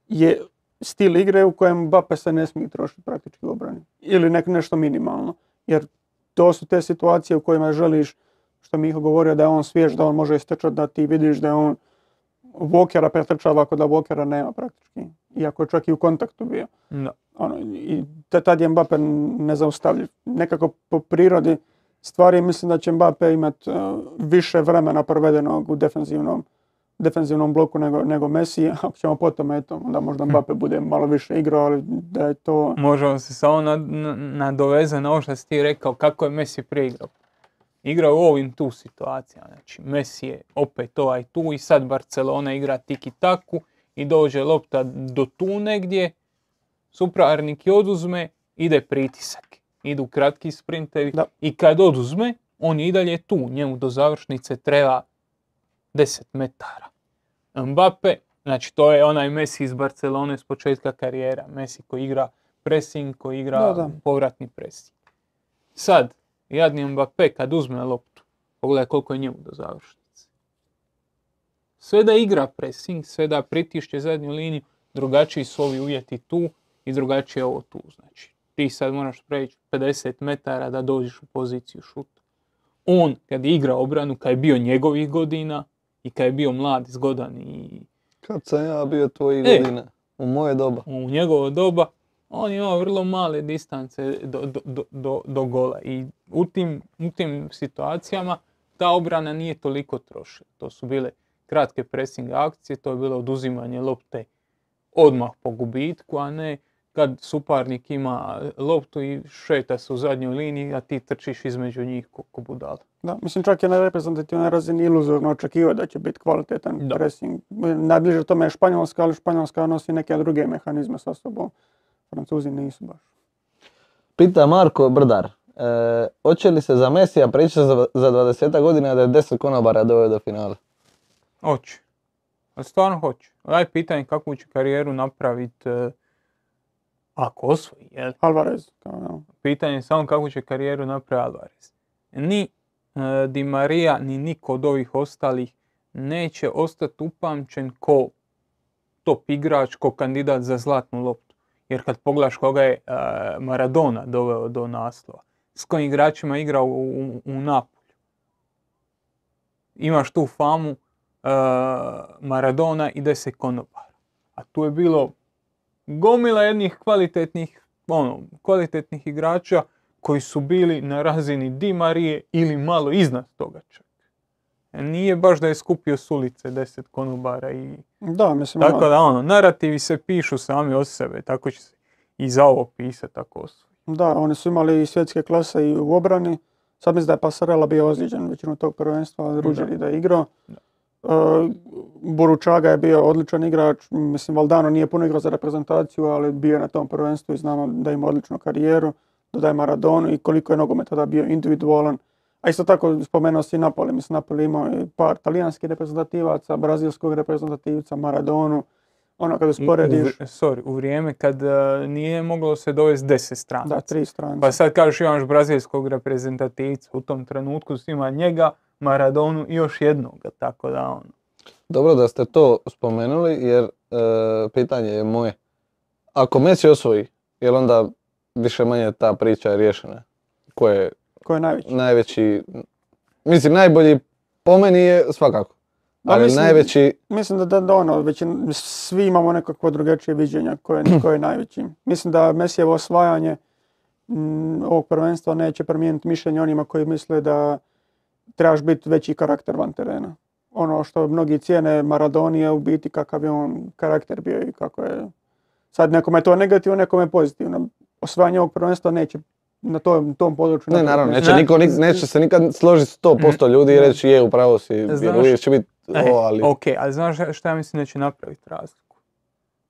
je stil igre u kojem Mbappe se ne smije trošiti praktički u obrani. Ili nek, nešto minimalno. Jer to su te situacije u kojima želiš, što Miho govorio, da je on svjež, da on može istrčati, da ti vidiš da je on Walkera pretrčava ako da Walkera nema praktički. Iako je čak i u kontaktu bio. No. Ono, i tad je Mbappe nezaustavljiv. Nekako po prirodi stvari mislim da će Mbappe imati uh, više vremena provedenog u defensivnom, defensivnom bloku nego, nego Messi. Ako ćemo potom, eto, onda možda Mbappe bude malo više igrao, ali da je to... Možemo se samo nadovezati na ovo što si ti rekao, kako je Messi prije igrao. Igrao u ovim tu situacijama. Znači, Messi je opet ovaj tu i sad Barcelona igra tiki-taku i dođe lopta do tu negdje, suparnik je oduzme, ide pritisak. Idu kratki sprintevi da. I kad oduzme, on je i dalje tu. Njemu do završnice treba deset metara. Mbappe, znači to je onaj Messi iz Barcelone s početka karijera. Messi koji igra pressing, koji igra da, da. povratni pressing. Sad, jadni Mbappe kad uzme loptu, pogledaj koliko je njemu do završnice. Sve da igra pressing, sve da pritišće zadnju liniju, drugačiji su ovi uvjeti tu i drugačije je ovo tu. Znači, ti sad moraš preći pedeset metara da dođeš u poziciju šuta. On, kad je igrao obranu, kad je bio njegovih godina i kad je bio mlad, zgodan i... Kad sam ja bio tvojih e, godina. U moje doba. u njegovo doba, on je imao vrlo male distance do, do, do, do, do gola. I u tim, u tim situacijama ta obrana nije toliko trošila. To su bile kratke pressing akcije, to je bilo oduzimanje lopte odmah po gubitku, a ne kad suparnik ima loptu i šeta se u zadnjoj liniji, a ti trčiš između njih ko, ko budala. Da, mislim čak je na reprezentativnoj razini iluzorno očekivati da će biti kvalitetan Da. pressing. Najbliže tome je Španjolska, ali Španjolska nosi neke druge mehanizme sa sobom. Francuzi nisu baš. Pita Marko Brdar. E, hoće li se za Mesija priča za, za dvadeset godina da je deset konobara doveo do finala? Hoće. Ali stvarno hoće. Daj pitanje kakvu će karijeru napraviti e, ako osvoji, jel? Alvarez. Kao, ja. Pitanje je samo kakvu će karijeru napraviti Alvarez. Ni e, Di Maria, ni niko od ovih ostalih neće ostati upamćen ko top igrač, ko kandidat za zlatnu loptu. Jer kad pogledaš koga je e, Maradona doveo do naslova, s kojim igračima igrao u, u, u Napolju. Imaš tu famu Uh, Maradona i deset konobara. A tu je bilo gomila jednih kvalitetnih, ono, kvalitetnih igrača koji su bili na razini Di Marije ili malo iznad toga čak. Nije baš da je skupio s ulice deset konobara i... Da, mislim... Tako da, ono, narativi se pišu sami od sebe, tako će se i za ovo pisati tako osvoji. Da, oni su imali svjetske klase i u obrani. Sad mislim da je Pasarela bio ozlijeđen većinu tog prvenstva, Ruđeri da je igrao. Da. Uh, Boručaga je bio odličan igrač, mislim Valdano nije puno igrao za reprezentaciju, ali bio je na tom prvenstvu i znamo da ima odličnu karijeru, dodaje Maradonu i koliko je nogomet tada bio individualan. A isto tako spomenuo si Napoli, mislim Napoli imao i par talijanskih reprezentativaca, brazilskog reprezentativca, Maradonu, ono kad usporediš... U, u, sorry, u vrijeme kad uh, nije moglo se dovesti deset stranaca. Da, tri strance. Pa sad kažeš imaš brazilskog reprezentativca, u tom trenutku si ima njega, Maradonu i još jednog, tako da ono. Dobro da ste to spomenuli jer e, pitanje je moje. Ako Messi osvoji, je li onda više manje ta priča je riješena? Ko je, Ko je najveći? najveći? Mislim, najbolji po meni je svakako. Da, Ali mislim, najveći... Mislim da, da, da ono, većin, svi imamo nekakvo drugačije viđenja ko je, ko je najveći. Mislim da Messijevo osvajanje m, ovog prvenstva neće promijeniti mišljenje onima koji misle da trebaš biti veći karakter van terena. Ono što mnogi cijene Maradoni je u biti kakav je on karakter bio i kako je... Sad nekome je to negativno, nekome je pozitivno. Osvajanje ovog prvenstva neće na tom, tom području... Ne, naravno, neće, Ne. niko, nik- neće se nikad složiti sto posto ljudi i reći je, upravo si, jer Znaš- uvijek će biti E, o, ali... ok, ali znaš šta ja mislim da će napraviti razliku?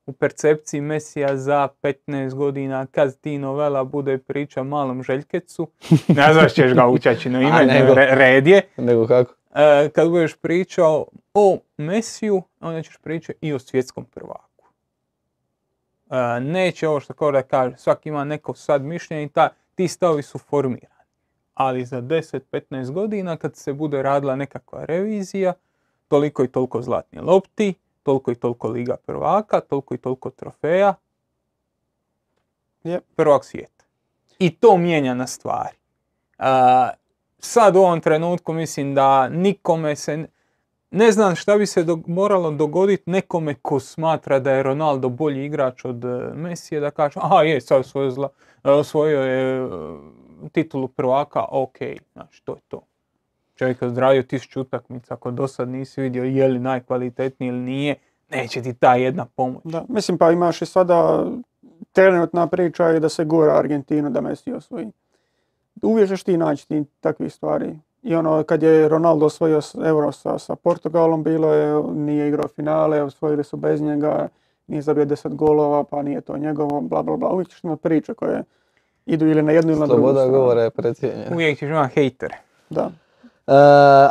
U percepciji Mesija za petnaest godina, kad ti novela bude priča malom Željkecu, ne znaš ćeš ga učaći na ime, nego. re, red je. Nego kako? E, kad budeš pričao o Mesiju, onda ćeš pričati i o svjetskom prvaku. E, neće ovo što kao da kaže, svaki ima neko sad mišljenje i ta, ti stavovi su formirani. Ali za deset do petnaest godina kad se bude radila nekakva revizija, toliko i toliko zlatnih lopti, toliko i toliko liga prvaka, toliko i toliko trofeja, Yep. prvak svijeta. I to mijenja na stvari. Uh, sad u ovom trenutku mislim da nikome se... Ne znam šta bi se do, moralo dogoditi nekome ko smatra da je Ronaldo bolji igrač od uh, Mesija, da kaže, aha je, sad osvojio, zla, osvojio je uh, titulu prvaka, ok, znači to je to. Čovjek je odradio tisuću utakmica, ako do sad nisi vidio je li najkvalitetniji ili nije, neće ti ta jedna pomoć. Da, mislim pa imaš i sada trenutna priča je da se gura Argentinu da Messi osvoji. Uvijek ćeš ti naći ti takvih stvari. I ono kad je Ronaldo osvojio Euro sa, sa Portugalom, bilo je, nije igrao finale, osvojili su bez njega, nije zabio deset golova, pa nije to njegovo, bla bla bla. Uvijek ćeš imati priče koje idu ili na jednu ili na drugu Sloboda stranu. govora je precijenjena. Uvijek ćeš imati hejtere. Da. E,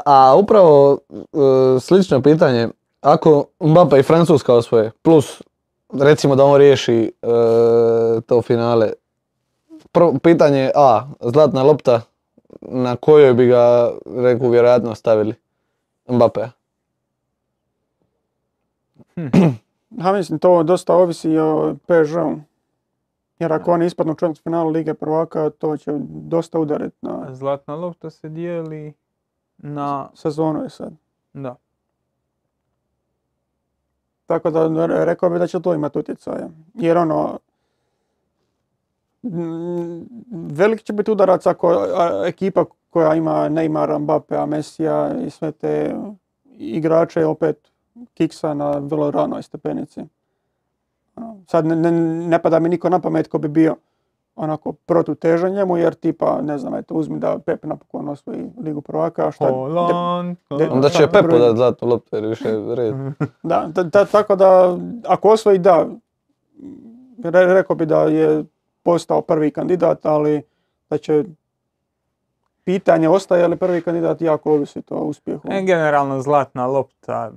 a upravo e, slično pitanje, ako Mbappe i Francuska osvoje, plus recimo da on riješi e, to finale, Pro, pitanje A, zlatna lopta, na kojoj bi ga, reku, vjerojatno stavili Mbappe? Ha, mislim, to dosta ovisi o P S G-u. Jer ako oni ispadnu u četvrtfinalu Lige prvaka, to će dosta udariti na Zlatna lopta se dijeli na... sezonu je sad. Da. Tako da rekao bi da će to imati utjecaja. Jer ono, velik će biti udarac ako ekipa koja ima Neymara, Mbappéa, Messija i sve te igrače opet kiksa na vrlo ranoj stepenici. Sad ne, ne, ne pada mi niko na pamet ko bi bio onako protutežan njemu, jer tipa, ne znam, eto, uzmi da Pep napokon osvoji Ligu prvaka, šta... Holland, de, de, Onda će Pepu dati zlatnu loptu jer više red. Da, da, da, tako da, ako osvoji, da, re, rekao bi da je postao prvi kandidat, ali da će pitanje ostaje li prvi kandidat jako ovisi to o uspjehu. E, generalno zlatna lopta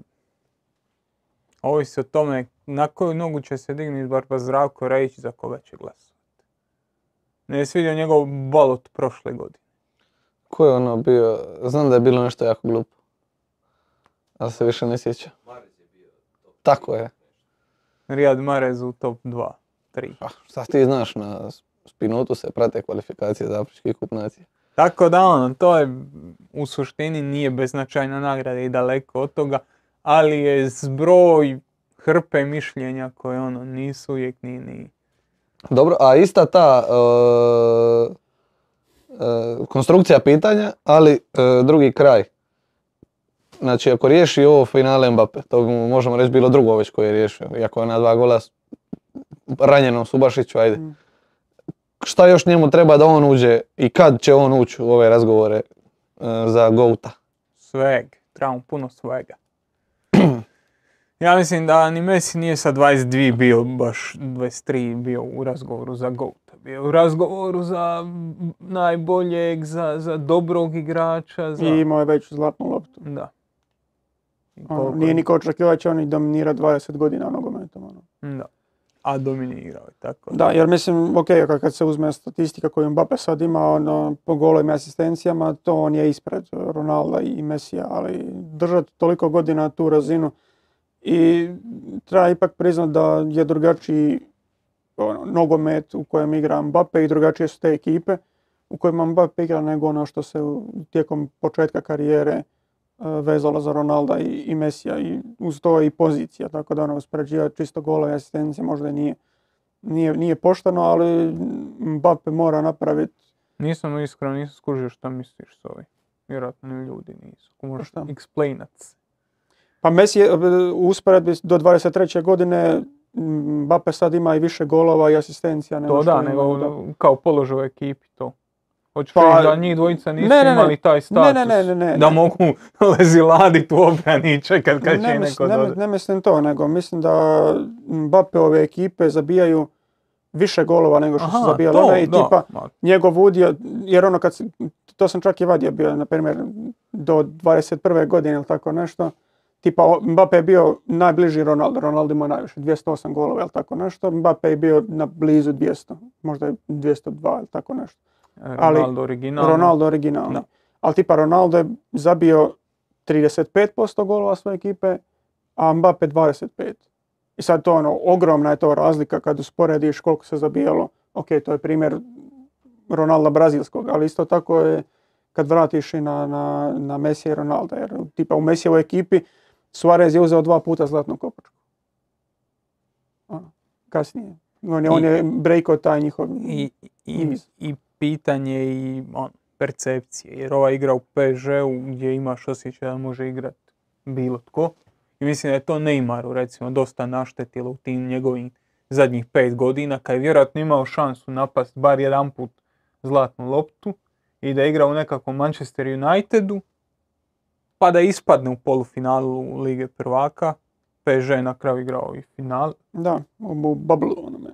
ovisi o tome na koju nogu će se dignuti Barba Zdravko Rajić, za koga će glasovati. Ne je svidio njegov balot prošle godine. Ko je ono bio, znam da je bilo nešto jako glupo, ali se više ne sjeća. Tako je. Riyad Mahrez u top dva, tri. Ah, šta ti znaš, na Spinutu se prate kvalifikacije za Afrički kup nacije. Tako da ono, to je u suštini nije beznačajna nagrada i daleko od toga, ali je zbroj hrpe mišljenja koje ono nisu uvijek ni ni... Dobro, a ista ta uh, uh, konstrukcija pitanja, ali uh, drugi kraj. Znači, ako riješi ovo finale Mbappe, to bi mu možemo reći bilo drugo već koje je riješio, iako je na dva gola ranjenom Subašiću, ajde. Mm. Šta još njemu treba da on uđe i kad će on ući u ove razgovore uh, za Gouta? Sveg, treba mu puno svega. Ja mislim da ni Messi nije sa dvadeset dva bio baš dvadeset tri bio u razgovoru za Gouta. Bio u razgovoru za najboljeg, za, za dobrog igrača. Za... I imao je već zlatnu loptu. Da. Ono, nije niko očekivao će on i dominira dvadeset godina nogometom. Ono. Da. A dominirao je tako. Da, jer mislim, ok, kad se uzme statistika koju Mbappe sad ima ono, po golovima i asistencijama, to on je ispred Ronalda i Messija, ali držati toliko godina tu razinu i treba ipak priznati da je drugačiji ono, nogomet u kojem igra Mbappe i drugačije su te ekipe u kojima Mbappe igra nego ono što se tijekom početka karijere vezalo za Ronalda i, i Messija i uz to i pozicija, tako da ono uspoređivati čisto gola i asistencije možda nije, nije, nije pošteno, ali Mbappe mora napraviti. Nisam iskreno, nisam skužio šta misliš s ovim. Vjerojatno ni ljudi nisu. Ko možeš explainat. Pa Messi je u usporedbi do dvadeset treće godine Mbappe sad ima i više golova i asistencija. Nego to da, nego da... kao položaj u ekipi to. Hoćeš pa, reći da njih dvojica nisu ne, ne, imali taj status, ne, ne, ne, ne, da ne. mogu leziladit u obrani i čekat kad će ne neko ne, dođe. Ne mislim to, nego mislim da Mbappe-ove ekipe zabijaju više golova nego što Aha, su zabijali one i da, tipa da. Njegov udio, jer ono kad, to sam čak i vadio bio, na primjer, do dvadeset prve godine ili tako nešto, tipa Mbappe je bio najbliži Ronaldo, Ronaldo ima najviše, dvjesto osam golova ili tako nešto, Mbappe je bio na blizu dvjesto, možda je dvjesto dva ili tako nešto. Ronaldo originalni. Ronaldo originalni. Da. Ali tipa Ronaldo je zabio trideset pet posto golova svoje ekipe, a Mbappe dvadeset pet. I sad to ono, ogromna je to razlika kad usporediš koliko se zabijalo. Ok, to je primjer Ronalda brazilskog, ali isto tako je kad vratiš i na, na, na Messi i Ronalda. Jer tipa u Messijevoj ekipi Suarez je uzeo dva puta zlatnu kopačku. Ono, kasnije. On je, I, on je breakao taj njihov i, i, i pitanje i on, percepcije. Jer ova igra u P S G-u gdje imaš osjećaj da može igrati bilo tko. I mislim da je to Neymaru recimo dosta naštetilo u tim njegovim zadnjih pet godina kad je vjerojatno imao šansu napast bar jedan put zlatnu loptu i da igra u nekakvom Manchester Unitedu pa da ispadne u polufinalu Lige prvaka. P S G je na kraju igrao i final. Da, u bubble onome.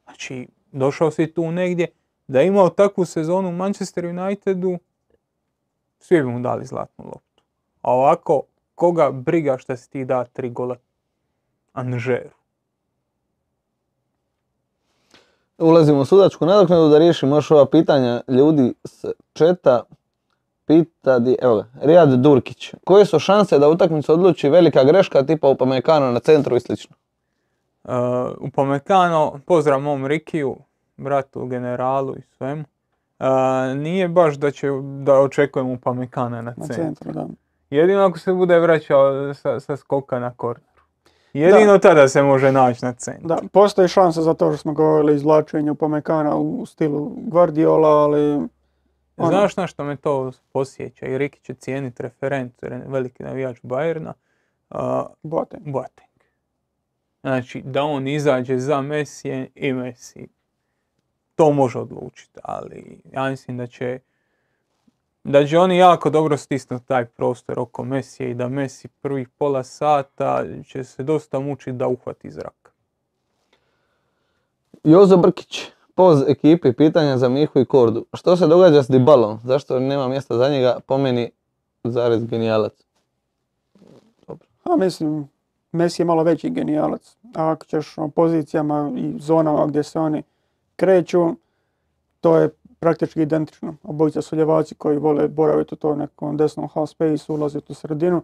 Znači, došao si tu negdje da je imao takvu sezonu u Manchester Unitedu, svi bi mu dali zlatnu loptu. A ovako, koga briga šta si ti da tri gola Anžeru? Ulazimo u sudačku nadoknadu da riješimo još ova pitanja ljudi s četa. Pita, di, evo ga, Rijad Durkić. Koje su šanse da utakmicu odluči velika greška tipa Upamecano na centru i slično? Uh, Upamecano, pozdrav mom Rikiju, bratu, generalu i svemu. Uh, nije baš da će da očekujemo Upamecana na centru. Na centru, da. Jedino ako se bude vraćao sa, sa skoka na korneru. Jedino tada se može naći na centru. Da, postoji šansa za to što smo govorili izvlačenje Upamecana u stilu Guardiola, ali... Ono, Znaš na što me to posjeća? I Riki će cijeniti referent, jer je veliki navijač Bayerna. Uh, Boateng. Boateng. Znači, da on izađe za Messi i Messi. To može odlučiti, ali ja mislim da će da će oni jako dobro stisnuti taj prostor oko Messija i da Messi prvih pola sata će se dosta mučiti da uhvati zrak. Jozo Brkić, poz ekipi, pitanja za Mihu i Kordu. Što se događa s Dybalom? Zašto nema mjesta za njega? Po meni, zarez genijalac. Dobro. A mislim, Messi je malo veći genijalac. A ako ćeš o pozicijama i zonama gdje se oni kreću, to je praktički identično. Obojica su ljevaci koji vole boraviti u tom nekom desnom half space, ulaziti u sredinu.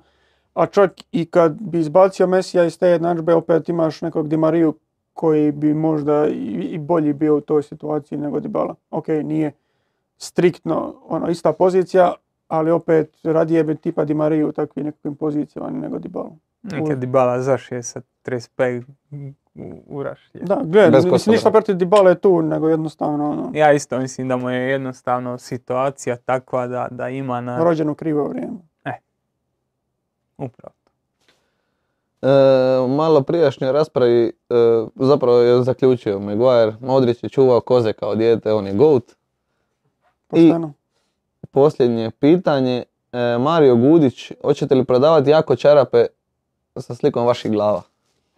A čak i kad bi izbacio Messija iz te jednadžbe, opet imaš nekog Di Mariju koji bi možda i bolji bio u toj situaciji nego Dybala. Ok, nije striktno ono, ista pozicija, ali opet radije bi tipa Di Mariju u takvim nekakvim pozicijama nego Dybala. Nekad Dybala zašije sa trideset pet u rašlje. Da, gledaj, mislim ništa protiv Dybala je tu, nego jednostavno... Ono, ja isto mislim da mu je jednostavno situacija takva da, da ima na... rođen u krivo vrijeme. E, upravo. E, malo prijašnjoj raspravi e, zapravo je zaključio Maguire, Modrić je čuvao koze kao dijete, on je GOAT. Pošteno. I posljednje pitanje, e, Mario Gudić, hoćete li prodavati jako čarape sa slikom vaših glava?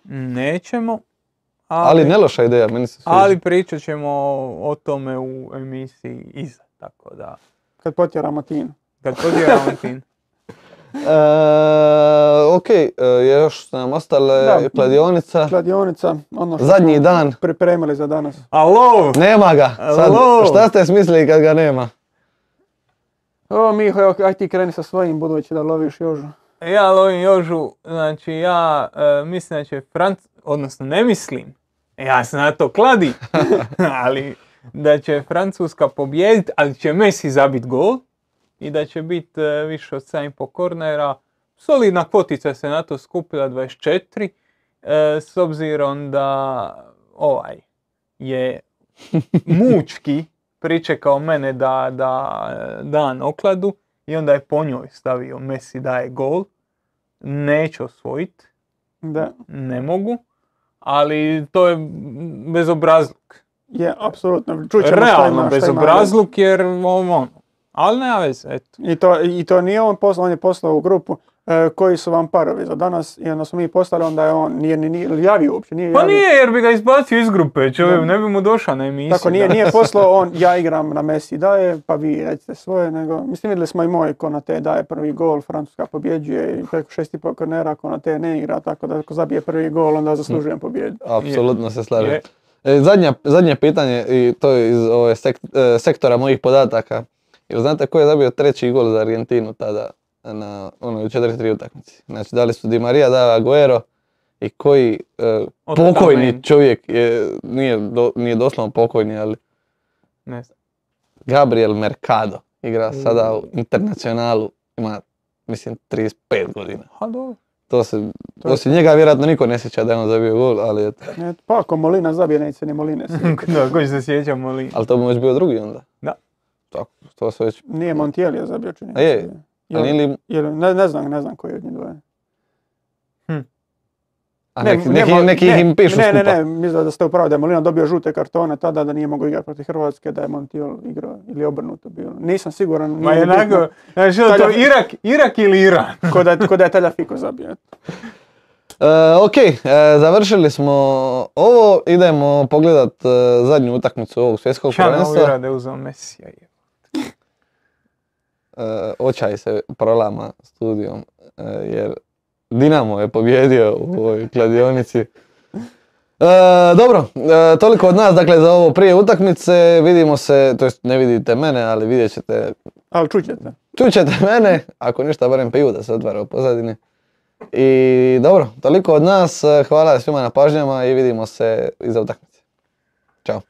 Nećemo. Ali, ali ne loša ideja, meni se sviđa. Ali pričat ćemo o tome u emisiji iza, tako da... Kad potjeramo Tinu. Kad potjeramo Tinu. E, ok, e, još su nam ostale da, kladionica. Kladionica, ono što zadnji smo dan. pripremili za danas. Alo! Nema ga, sad, šta ste smislili kad ga nema? O Miho, evo, aj ti kreni sa svojim budući da loviš Jožu. Ja lovim Jožu, znači ja e, mislim da će Franc... odnosno ne mislim, ja se na to kladi, ali da će Francuska pobijediti, ali će Messi zabiti gol i da će biti e, više od sedam i pol kornera. Solidna kvotica se na to skupila dvadeset četiri, e, s obzirom da ovaj je mučki pričekao mene da, da dan okladu i onda je po njoj stavio Messi daje gol. Neću osvojiti, da. Ne mogu, ali to je bezobrazluk. Je, apsolutno. Čućemo realno bezobrazluk jer ono, ali nema veze, eto. I to, i to nije on poslao, on je poslao u grupu e, koji su vam parovi za danas i onda smo mi poslali, onda je on nije ni javio uopće. Nije pa javio. Nije jer bi ga izbacio iz grupe, čovjek, ne bi mu došao na emisiju. Tako nije, nije poslao on, ja igram na Messi daje, pa vi recite svoje, nego, mislim vidjeli smo i moj Konate daje prvi gol, Francuska pobjeđuje i preko šest i pol kornera Konate ne igra, tako da ako zabije prvi gol onda zaslužujem pobjedu. Apsolutno se slažem. E, zadnja, zadnje pitanje, i to je iz ove sek, e, sektora mojih podataka. Jel znate ko je zabio treći gol za Argentinu tada na onoj četiri tri utakmici? Znači da li su Di Maria, da Aguero i koji e, pokojni čovjek je, nije, do, nije doslovno pokojni, ali ne znam. Gabriel Mercado igra mm. sada u Internacionalu, ima mislim trideset pet godina. Ha, dobro. To se, osim njega vjerojatno niko ne sjeća da je on zabio gol, ali eto. Et, pa ako Molina zabije, neće se ni Moline sjeća. Da, koji se sjeća Molina. Ali to bi već bio drugi onda. Da. Tako, to se već... Nije Montiel je zabio čini. A je, ali ili... Ne, ne znam, ne znam koji je od njih dvoje. Hm. A neki, ne, neki, neki ne, im pišu ne, skupa. Ne, ne, mislim da ste upravo da je Molina dobio žute kartone tada, da nije mogao igrati protiv Hrvatske, da je Montiel igrao ili obrnuto bilo. Nisam siguran. Ma jednako, znači to Irak, Irak ili Iran? Ko da, ko da je Tagliafico zabio. Uh, ok, uh, završili smo ovo, idemo pogledat uh, zadnju utakmicu ovog svjetskog prvenstva. Čano uvjera uzeo Messija. Uh, očaj se prolama studijom, uh, jer Dinamo je pobjedio u ovoj kladionici. Uh, dobro, uh, toliko od nas, dakle, za ovo prije utakmice. Vidimo se, to jest ne vidite mene, ali vidjet ćete... Ali čućete. Čućete mene, ako ništa, barem pivu da se otvara u pozadini. I dobro, toliko od nas, hvala svima na pažnjama i vidimo se iza utakmice. Ćao.